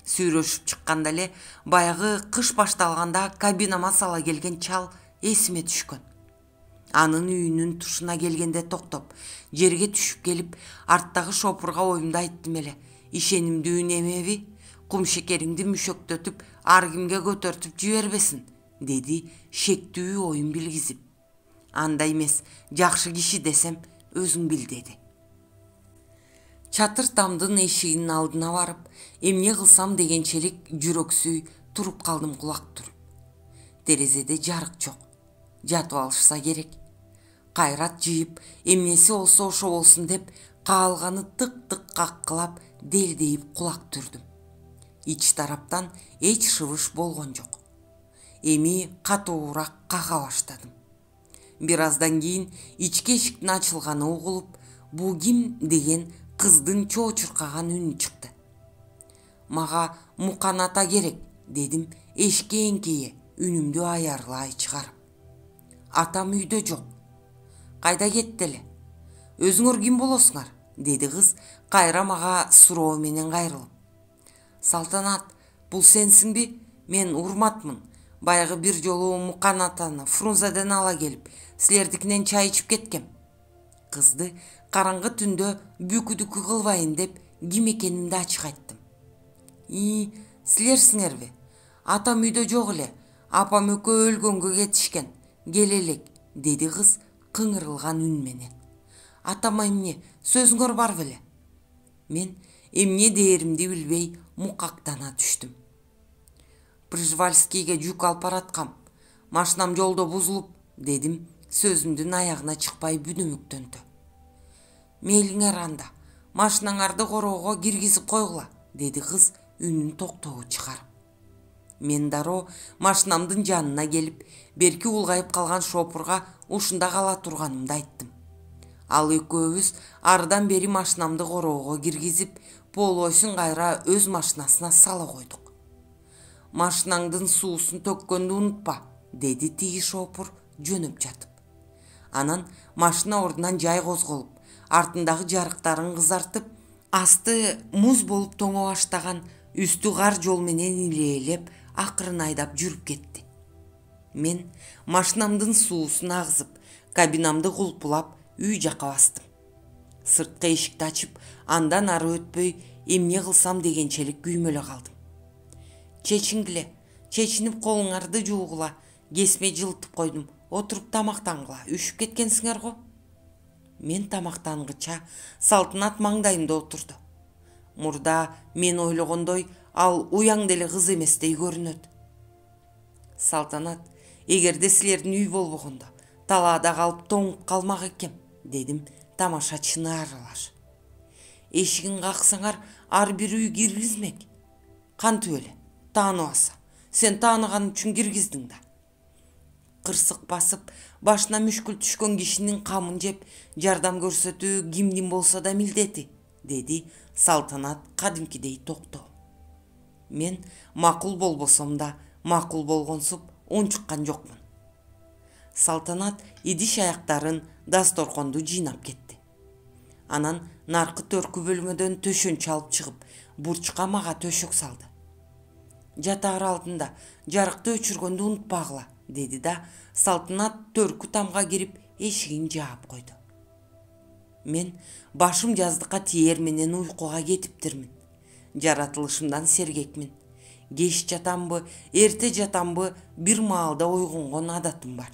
Speaker 1: Сүйрөшүп чыкканда эле баягы кыш башталганда кабинама сала келген чал эсиме түшкөн. Анын үйүнүн тушуна келгенде токтоп, жерге түшүп келип, арттагы шопурга оюмду айттым эле. Ишенимдүү немеби? Кумшекериңди мүшөктөтүп, ар кимге көтөртүп жибербесин, деди шектүү оюн билгизип. Андай эмес, жакшы киши десем, өзүң бил, деди. Чатыр тамдын эшигинин алдына барып, эмне кылсам дегенчелик жүрөксүй туруп калдым кулак түрүп. Терезеде жарык жок. Жатып алышса керек. Кайрат жыйып, эмнеси болсо ошо болсун деп, каалганы тык-тык каккылап, делдейип кулак түрдүм. Ич тараптан эч шыбыш болгон жок. Эми катуураак кага баштадым. Бир аздан кийин ички эшиктин ачылганы угулуп, бу ким деген кыздын чоочуркаган үнү чыкты. Мага Мукан ата керек, дедим эшикке эңкейе, үнүмдү аярлай чыгарып. Атам үйдө жок. Кайда кетти эле? Өзүңөр ким болосуңар? Деди кыз кайра мага суроо менен кайрылып. Салтанат, бул сенсиңби? Мен Урматмын. Баягы бир жолу Мукан атаны Фрунзеден ала келип, силердикинен чай ичип кеткем. Кызды караңгы түндө бүкүдүкү кылбайын деп ким экенимди ачык айттым. Силерсиңерби? Атам үйдө жок эле. Апам экөө өлгөнгө кетишкен. Келе элек, деди кыз кыңырылган үн менен. Атама эмне? Сөзүңөр бар беле? Мен эмне дээримди билбей мукактана түштүм. Пржевальскийге жүк алып бараткам. Машинам жолдо бузулуп, дедим сөзүмдүн аягына чыкпай бүдүмүктөнтө. Мейлиңер анда, машинаңарды короого киргизип койгула, деди кыз үнүн токтоо чыгарып. Мен дароо машинамдын жанына келип, берки улгайып калган шопурга ушунда кала турганымды айттым. Ал экөөбүз арыдан бери машинамды короого киргизип, полосун кайра өз машинасына сала койдук. Машинаңдын суусун төккөндү унутпа, деди тиги шопур жөнөп жатып. Анан машина ордунан жай козголуп, артындагы жарыктарын кызартып, асты муз болуп тоңо баштаган, үстү кар жол менен илээлеп, акырын айдап жүрүп кетти. Мен машинамдын суусун агызып, кабинамды кулпулап, үй жакка бастым. Сырткы эшикти ачып, андан ары өтпөй, эмне кылсам дегенчелик күймөлө калдым. Чечингиле, чечинип колуңарды жуугула, кесме жылытып койдум, отуруп тамактангыла, үшүп кеткенсиңер го. Мен тамактангыча Салтанат маңдайымда отурду. Мурда мен ойлогондой ал уяң деле кыз эместей көрүнөт. Салтанат, эгерде силердин үй болбогондо, талаада калып тоңуп калмак экем, дедим тамашачыны аралаш. Эшигин каксаңар, ар бир үй киргизмек. Кантип эле? Тааныбаса, сен тааныган үчүн киргиздиң да. Кырсык басып, башына мүшкүл түшкөн кишинин камын жеп, жардам көрсөтүү кимдин болсо да милдети, деди Салтанат кадимкидей токтоо. Мен макул болбосом да, макул болгонсуп унчуккан жокмун. Салтанат идиш аяктарын, дасторконду жыйнап кетти. Анан наркы төркү бөлмөдөн төшөнчү алып чыгып, бурчка мага төшөк салды. Жатаар алдында жарыкты өчүргөндү унутпагыла, деди да Салтанат төркү тамга кирип эшигин жаап койду. Мен башым жаздыкка тиер менен уйкуга кетиптирмин. Жаратылышымдан сергекмин. Кеч жатамбы, эрте жатамбы, бир маалда ойгонгон адатым бар.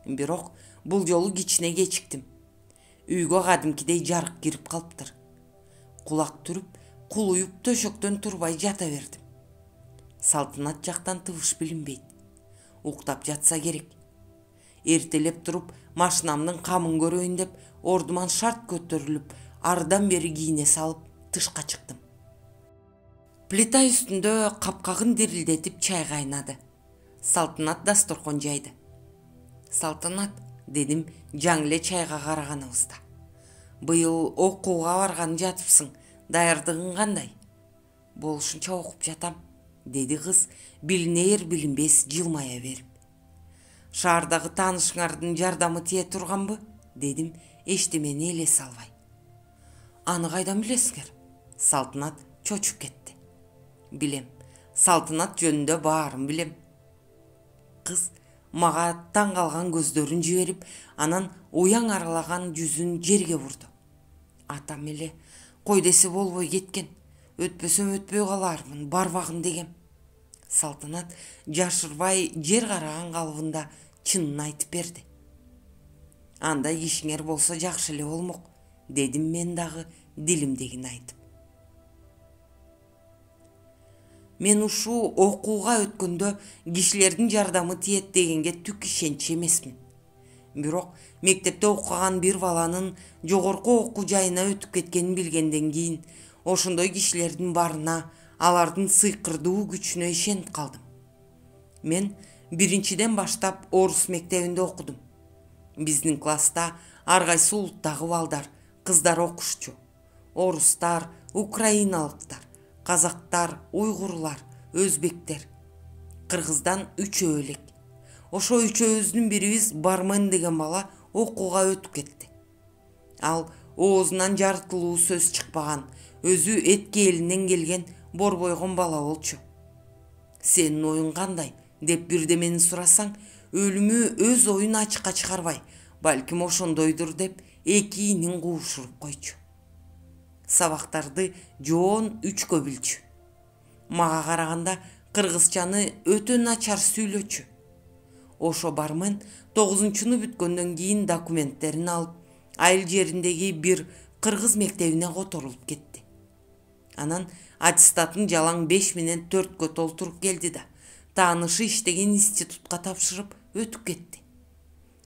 Speaker 1: Бирок бул жолу кичине кечиктим. Үйгө кадимкидей жарык кирип калыптыр. Кулак түрүп, кулуюп төшөктөн турбай жата бердим. Салтанат жактан тыбыш билинбейт. Уктап жатса керек. Эртелеп туруп, машинамдын камын көрөйүн деп, ордуман шарт көтөрүлүп, арыдан бери кийине салып, тышка чыктым. Плита үстүндө капкагын дирилдетип чай кайнады. Салтанат дасторкон жайды. Салтанат, дедим жаңы эле чайга караганыбызда. Быйыл окууга барган жатыпсың, даярдыгың кандай? Болушунча окуп жатам, деди кыз билинер билинбес жылмая берип. Шаардагы таанышыңардын жардамы тие турганбы? Дедим эчтемени элесе албай. Аны кайдан билесиңер? Салтанат чочуп кетти. Билем, Салтанат жөнүндө баарын билем. Кыз мага таң калган көздөрүн жиберип, анан уяң аралаган жүзүн жерге бурду. Атам эле кой десе болбой кеткен. Өтпөсөм өтпөй калармын, барбагын дегем. Салтанат жашырбай жер караган калыбында чынын айтып берди. Андай кишиңер болсо жакшы эле болмок, дедим мен дагы дилимдегини айтып. Мен ушул окууга өткөндө кишилердин жардамы тиет дегенге түк ишенчи эмесмин. Бирок мектепте окуган бир баланын жогорку окуу жайына өтүп кеткенин билгенден кийин ошондой кишилердин барына, алардын сыйкырдуу күчүнө ишенип калдым. Мен биринчиден баштап орус мектебинде окудум. Биздин класста ар кайсы улуттагы балдар, кыздар окушчу. Орустар, украиналыктар, казактар, уйгурлар, өзбектер. Кыргыздан 3 элек. Ошо 3-өбүздүн бирибиз Бармен деген бала окууга өтүп кетти. Ал оозунан жарытылуу сөз чыкпаган, өзү этке элинен келген борбойгон бала болчу. Сенин оюң кандай деп бирдемени сурасаң, өлүмү өз оюн ачыкка чыгарбай, балким ошондойдур деп эки инин куушуруп койчу. Сабактарды жоон 3кө билчү. Мага караганда кыргызчаны өтө начар сүйлөчү. Ошо Бармен 9-чуну бүткөндөн кийин документтерин алып, айыл жериндеги бир кыргыз мектебине которулуп кетти. Анан аттестатын жалаң 5 менен 4кө толтуруп келди да, таанышы иштеген институтка тапшырып өтүп кетти.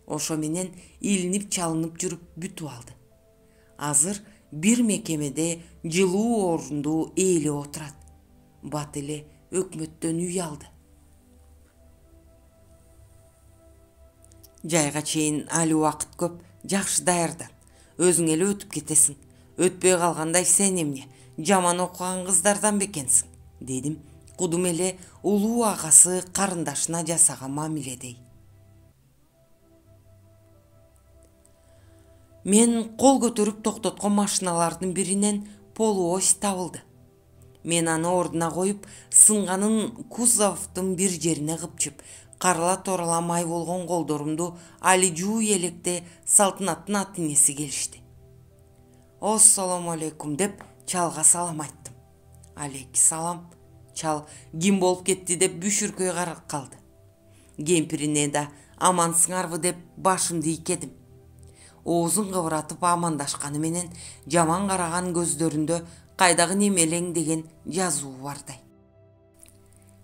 Speaker 1: Ошо менен илинип чалынып жүрүп бүтүп алды. Азыр бир мекемеде жылуу орунду ээлеп отурат. Бат эле өкмөттөн үй алды. Жайга чейин али убакыт көп, жакшы даярдан. Өзүң эле өтүп кетесиң. Өтпөй калгандай сен эмне, жаман окуган кыздардан бекенсиң, дедим. Кудум эле улуу агасы карындашына жасаган мамиледей. Мен кол көтөрүп токтоткон машиналардын биринен полуось табылды. Мен аны ордуна коюп, сынганын кузовдун бир жерине кыпчып, карала торала май болгон колдорумду али жууй электе Салтанаттын ата-энеси келишти. Ассаламу алейкум деп чалга салам айттым. Алейки салам. Чал ким болуп кетти деп бүшүркөй карап калды. Кемпирине да амансыңарбы деп башымды ийкедим. Оозун кыбыратып амандашканы менен жаман караган көздөрүндө кайдагы немелең деген жазуу бардай.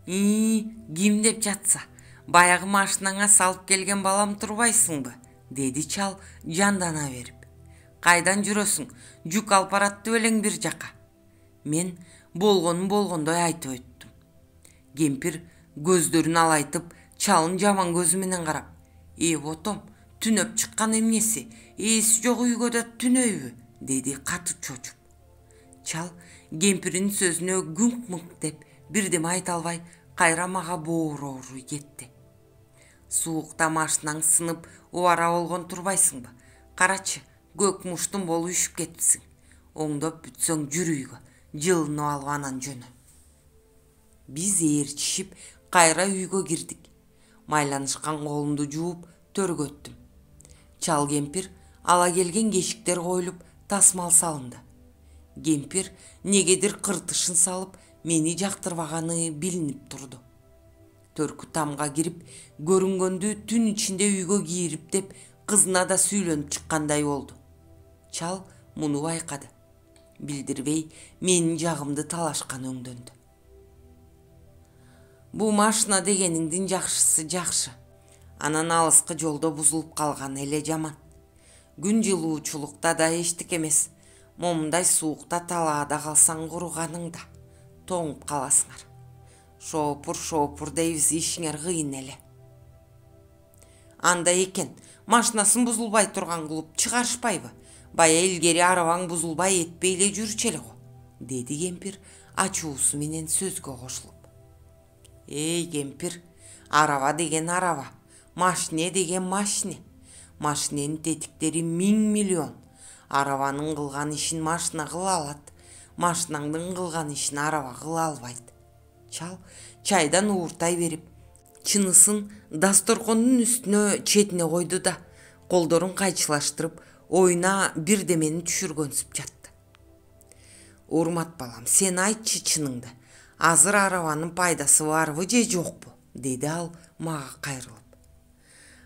Speaker 1: Ким деп жатса, баягы машинаңа салып келген балам турбайсыңбы, деди чал жандана берип. Кайдан жүрөсүң, жүк алып баратты белең бир жака. Мен болгонун болгондой айтып өттүм. Кемпир көздөрүн алайтып, чалын жаман көзү менен карап, ботом, түнөп чыккан эмнеси, ээси жок үйгө да түнөйбү, деди катуу чочуп. Чал кемпирдин сөзүнө гүңк-мыңк деп бирдеме айта албай, кайра мага боорооруй кетти. Суукта машинаң сынып, убара болгон турбайсыңбы? Карачы, көк муштун болуп үшүп кетипсиң. Оңдоп бүтсөң жүр үйгө, жылынып алып анан жөнө. Биз ээрчишип, кайра үйгө кирдик. Майланышкан колумду жууп, төргө өттүм. Чал кемпир ала келген кешиктер коюлуп, тасмал салынды. Кемпир негедир кыртышын салып, мени жактырбаганы билинип турду. Төркү тамга кирип, көрүнгөндү түн ичинде үйгө кирип деп кызына да сүйлөнүп чыккандай болду. Чал муну байкады. Билдирбей менин жагымды талашкан өңдөндү. Бу машина дегениңдин жакшысы жакшы. Анан алыскы жолдо бузулуп калганы эле жаман. Күн жылуучулукта да эчтеке эмес. Момундай суукта талаада калсаң куруганыңда тоңуп каласыңар. Шоопур дейбиз, ишиңер кыйын эле. Анда экен, машинасын бузулбай турган кылып чыгарышпайбы? Бая илгери арабаң бузулбай этпей эле жүрчү эле го, деди кемпир ачуусу менен сөзгө кошулуп. Кемпир, араба деген араба, машине деген машине. Машиненин тетиктери 1000 миллион. Арабанын кылган ишин машина кыла алат, машинаңдын кылган ишин араба кыла албайт. Чал чайдан ууртай берип, чынысын дасторкондун үстүнө четине койду да, колдорун кайчылаштырып, оюна бирдемени түшүргөнсүп жатты. Урмат балам, сен айтчы чыныңды. Азыр арабанын пайдасы барбы же жокпу? Деди ал мага кайрылып.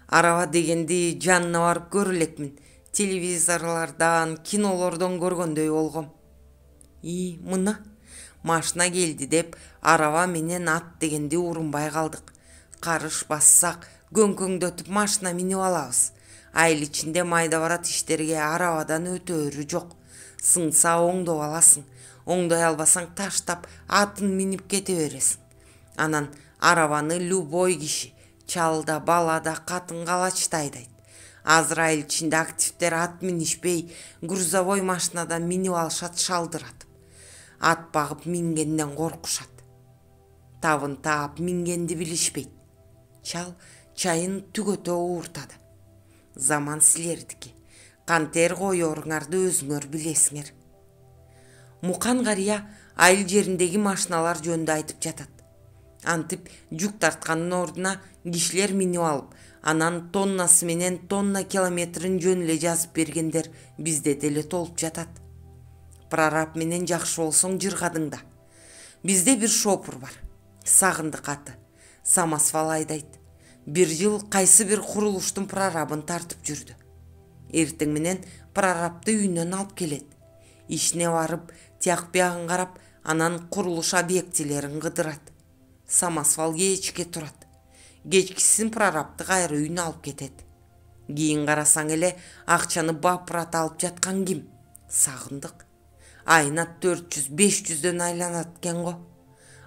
Speaker 1: Араба дегенди жанына барып көрө элекмин. Телевизорлордон, кинолордон көргөндөй болгом. Мына, машина келди деп араба менен ат дегенди урунбай калдык. Карыш бассак көңкөңдөтүп машина минип алабыз. Айыл ичинде майда барат иштерге арабадан өтөөрү жок. Сыңса оңдоп аласың. Оңдой албасаң таштап атын минип кете бересиң. Анан арабаны любой киши, чал да, бала да, катын калач да айдайт. Азыр айыл ичинде активдер ат минишпей, грузовой машинадан минип алышат шалдыратып. Ат багып мингенден коркушат. Табын таап мингенди билишпейт. Чал чайын түгөтө ууртады. Заман силердики. Кантер коёруңарды өзүңөр билесиңер. Мукан карыя айыл жериндеги машиналар жөнүндө айтып жатат. Антип жүк тарткандын ордуна кишилер минип алып, анан тоннасы менен тонна километрин жөн эле жазып бергендер бизде деле толуп жатат. Прораб менен жакшы болсоң жыргадың да. Бизде бир шопур бар. Сагындык аты. Самосвал айдайт. Бир жыл кайсы бир курулуштун прорабын тартып жүрдү. Эртең менен прорабты үйүнөн алып келет. Ишине барып, тияк биягын карап, анан курулуш объектилерин кыдырат. Самосвал кечке турат. Кечкисин прорабты кайра үйүнө алып кетет. Кийин карасаң эле акчаны бапырат алып жаткан ким? Сагындык. Айына 400-500дөн айланат экен го.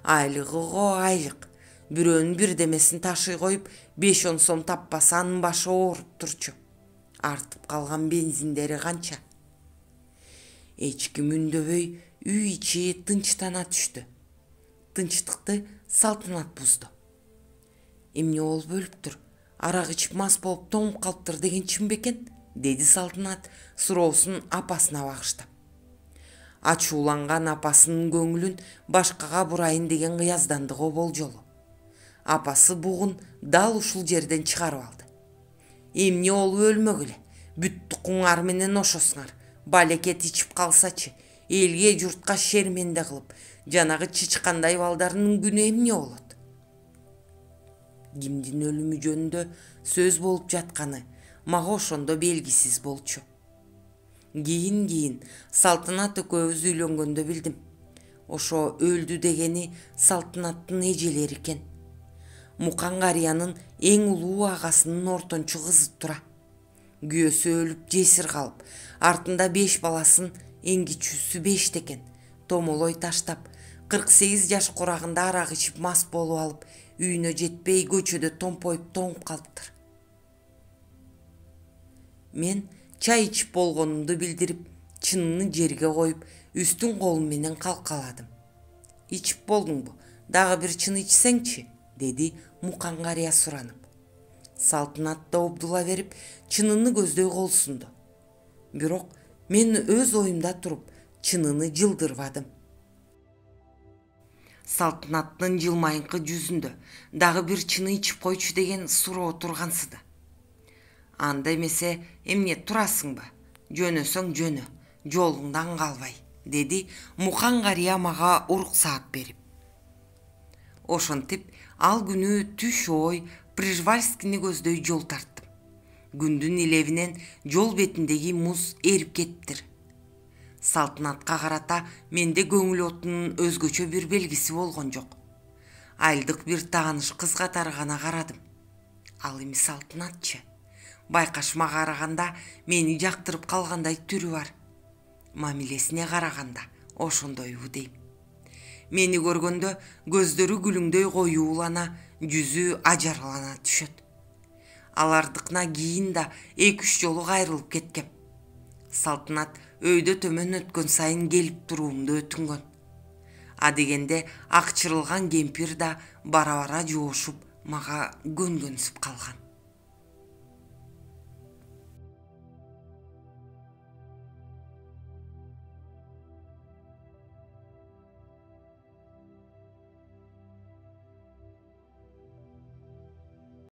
Speaker 1: Айлык. Бирөөнүн бирдемесин ташый коюп, 5-10 сом таппаса анын башы ооруп турчу. Артып калган бензиндери канча? Эч ким үндөбөй үй ичи тынчтана түштү. Тынчтыкты Салтанат бузду. Эмне болуп өлүптүр? Арак ичип мас болуп тоңуп калыптыр деген чын бекен? Деди Салтанат суроосун апасына багыштап. Ачууланган апасынын көңүлүн башкага бурайын деген кыяздандыгы болжолу. Апасы бугун дал ушул жерден чыгарып алды. Эмне болуп өлмөгүлө? Бүт тукуңар менен ошосуңар. Балекет ичип калсачы, элге журтка шерменде кылып, жанагы чычкандай балдарынын күнү эмне болот? Кимдин өлүмү жөнүндө сөз болуп жатканы мага ошондо белгисиз болчу. Кийин Салтанат экөөбүз үйлөнгөндө билдим. Ошо өлдү дегени Салтанаттын эжелери экен. Мукан карыянын эң улуу агасынын ортончу кызы тура. Күйөөсү өлүп жесир калып, артында 5 баласын, эң кичүүсү 5 экен. Томолой таштап, 48 жаш курагында арак ичип мас болуп алып, үйүнө жетпей көчөдө томпоюп тоңуп калыптыр. Мен чай ичип болгонумду билдирип, чыныны жерге коюп, үстүн колум менен калкаладым. Ичип болдуңбу? Дагы бир чын ичсеңчи? Деди Мукан карыя суранып. Салтанат да обдула берип, чыныны көздөй кол сунду. Бирок мен өз оюмда туруп, чыныны жылдырбадым. Салтанаттын жылмайыңкы жүзүндө дагы бир чыны ичип койчу деген суроо тургансыды. Анда эмесе эмне турасыңбы? Жөнөсөң жөнө, жолуңдан калбай, деди Мукан карыя мага уруксаат берип. Ошентип ал күнү түш ой Прижвальскини көздөй жол тарттым. Күндүн илебинен жол бетиндеги муз эрип кетиптир. Салтанатка карата менде көңүл отунун өзгөчө бир белгиси болгон жок. Айылдык бир тааныш кыз катары гана карадым. Ал эми Салтанатчы. Байкашыма караганда мени жактырып калгандай түрү бар. Мамилесине караганда ошондойбу дейм. Мени көргөндө көздөрү күлүңдөй коюулана, жүзү ажарлана түшөт. Алардыкына кийин да 2-3 жолу кайрылып кеткем. Салтанат өйдө төмөн өткөн сайын келип туруумду өтүнгөн. Адегенде акчырылган кемпир да бара-бара жоошуп мага көнгөнсүп калган.